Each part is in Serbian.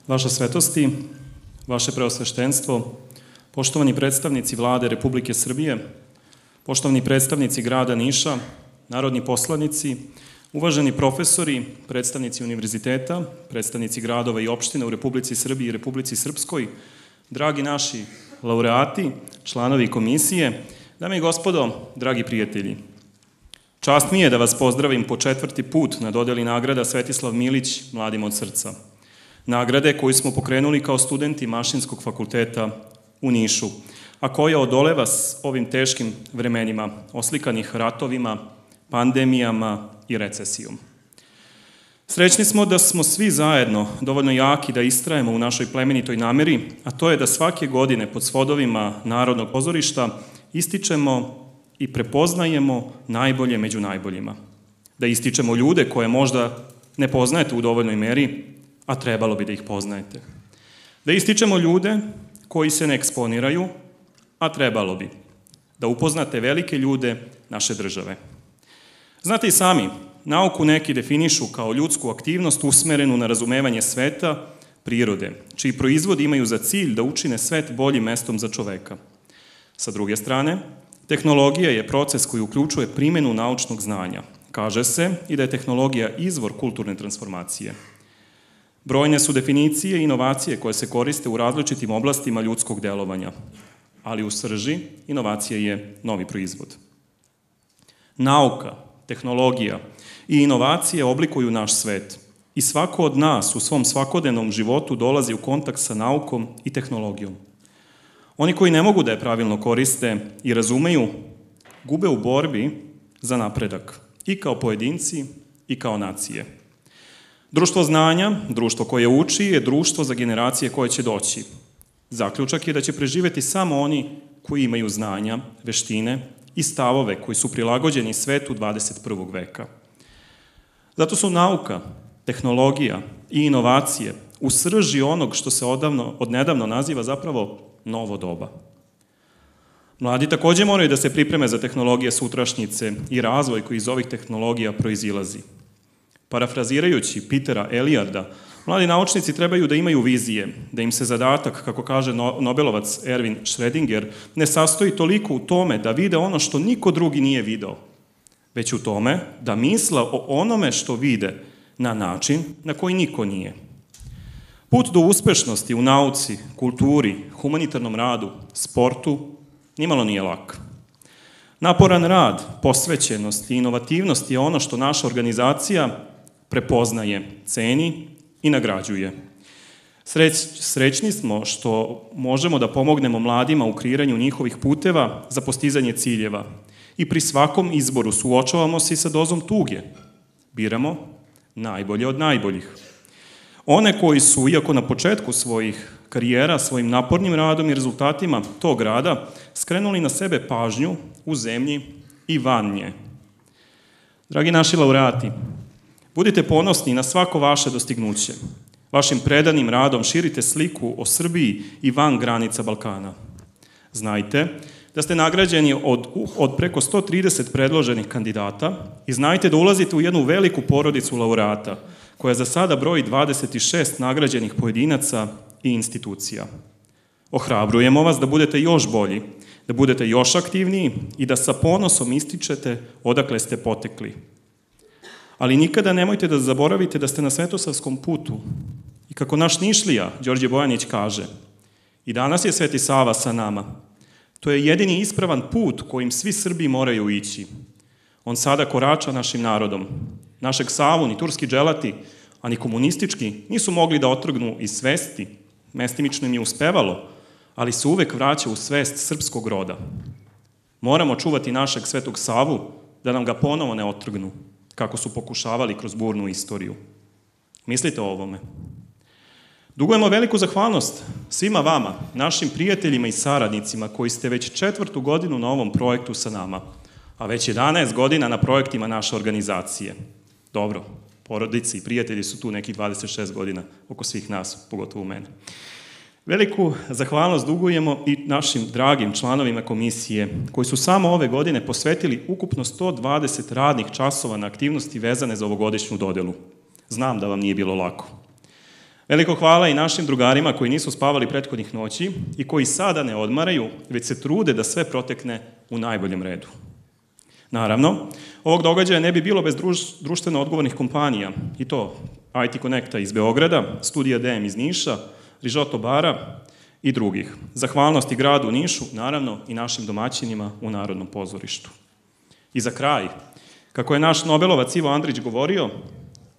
Vaša svetosti, vaše preosveštenstvo, poštovani predstavnici Vlade Republike Srbije, poštovani predstavnici grada Niša, narodni poslanici, uvaženi profesori, predstavnici univerziteta, predstavnici gradova i opština u Republici Srbiji i Republici Srpskoj, dragi naši laureati, članovi komisije, dame i gospodo, dragi prijatelji. Čast mi je da vas pozdravim po 4. put na dodeli nagrada Svetislav Milić Mladim od srca. Nagrade koju smo pokrenuli kao studenti Mašinskog fakulteta u Nišu, a koja odoleva s ovim teškim vremenima, oslikanih ratovima, pandemijama i recesijom. Srećni smo da smo svi zajedno dovoljno jaki da istrajemo u našoj plemenitoj nameri, a to je da svake godine pod svodovima Narodnog pozorišta ističemo i prepoznajemo najbolje među najboljima. Da ističemo ljude koje možda ne poznajete u dovoljnoj meri, a trebalo bi da ih poznajete. Da ističemo ljude koji se ne eksponiraju, a trebalo bi. Da upoznate velike ljude naše države. Znate i sami, nauku neki definišu kao ljudsku aktivnost usmerenu na razumevanje sveta, prirode, čiji proizvodi imaju za cilj da učine svet boljim mestom za čoveka. Sa druge strane, tehnologija je proces koji uključuje primjenu naučnog znanja. Kaže se i da je tehnologija izvor kulturne transformacije. Brojne su definicije i inovacije koje se koriste u različitim oblastima ljudskog delovanja, ali u srži inovacija je novi proizvod. Nauka, tehnologija i inovacije oblikuju naš svet i svako od nas u svom svakodnevnom životu dolazi u kontakt sa naukom i tehnologijom. Oni koji ne mogu da je pravilno koriste i razumeju, gube u borbi za napredak, i kao pojedinci i kao nacije. Društvo znanja, društvo koje uči, je društvo za generacije koje će doći. Zaključak je da će preživeti samo oni koji imaju znanja, veštine i stavove koji su prilagođeni svetu 21. veka. Zato su nauka, tehnologija i inovacije u srži onog što se odnedavno naziva zapravo novo doba. Mladi takođe moraju da se pripreme za tehnologije sutrašnjice i razvoj koji iz ovih tehnologija proizilazi. Parafrazirajući Petera Eliarda, mladi naučnici trebaju da imaju vizije, da im se zadatak, kako kaže Nobelovac Erwin Schrödinger, ne sastoji toliko u tome da vide ono što niko drugi nije video, već u tome da misle o onome što vide na način na koji niko nije. Put do uspešnosti u nauci, kulturi, humanitarnom radu, sportu, nimalo nije lak. Naporan rad, posvećenost i inovativnost je ono što naša organizacija prepoznaje, ceni i nagrađuje. Srećni smo što možemo da pomognemo mladima u kreiranju njihovih puteva za postizanje ciljeva i pri svakom izboru suočavamo se i sa dozom tuge. Biramo najbolje od najboljih. One koji su, iako na početku svojih karijera, svojim napornim radom i rezultatima tog rada, skrenuli na sebe pažnju u zemlji i van nje. Dragi naši laureati, budite ponosni na svako vaše dostignuće. Vašim predanim radom širite sliku o Srbiji i van granica Balkana. Znajte da ste nagrađeni od preko 130 predloženih kandidata i znajte da ulazite u jednu veliku porodicu laureata, koja za sada broji 26 nagrađenih pojedinaca i institucija. Ohrabrujemo vas da budete još bolji, da budete još aktivniji i da sa ponosom ističete odakle ste potekli. Ali nikada nemojte da zaboravite da ste na svetosavskom putu. I kako naš Nišlija, Đorđe Bojanić, kaže, i danas je Sveti Sava sa nama. To je jedini ispravan put kojim svi Srbi moraju ići. On sada korača našim narodom. Našeg Savu ni turski dželati, a ni komunistički nisu mogli da otrgnu iz svesti. Mestimično im je uspevalo, ali se uvek vraća u svest srpskog roda. Moramo čuvati našeg Svetog Savu da nam ga ponovo ne otrgnu, kako su pokušavali kroz burnu istoriju. Mislite o ovome. Dugujemo veliku zahvalnost svima vama, našim prijateljima i saradnicima koji ste već 4. godinu na ovom projektu sa nama, a već 11 godina na projektima naše organizacije. Dobro, porodice i prijatelji su tu nekih 26 godina oko svih nas, pogotovo u mene. Veliku zahvalnost dugujemo i našim dragim članovima komisije, koji su samo ove godine posvetili ukupno 120 radnih časova na aktivnosti vezane za ovogodišnju dodelu. Znam da vam nije bilo lako. Veliko hvala i našim drugarima koji nisu spavali prethodnih noći i koji sada ne odmaraju, već se trude da sve protekne u najboljem redu. Naravno, ovog događaja ne bi bilo bez društveno odgovornih kompanija, i to IT Connecta iz Beograda, Studija DM iz Niša, Rižoto bara i drugih. Zahvalnosti gradu Nišu, naravno i našim domaćinima u Narodnom pozorištu. I za kraj, kako je naš Nobelovac Ivo Andrić govorio,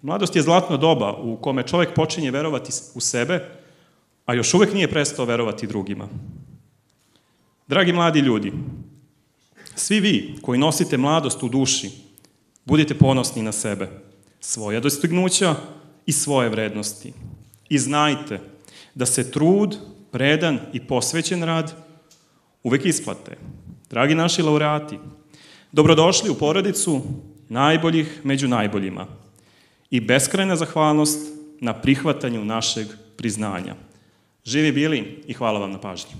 mladost je zlatno doba u kome čovek počinje verovati u sebe, a još uvek nije prestao verovati drugima. Dragi mladi ljudi, svi vi koji nosite mladost u duši, budite ponosni na sebe, svoja dostignuća i svoje vrednosti. I znajte da se trud, predan i posvećen rad uvek isplate. Dragi naši laureati, dobrodošli u porodicu najboljih među najboljima i beskrajna zahvalnost na prihvatanju našeg priznanja. Živi bili i hvala vam na pažnji.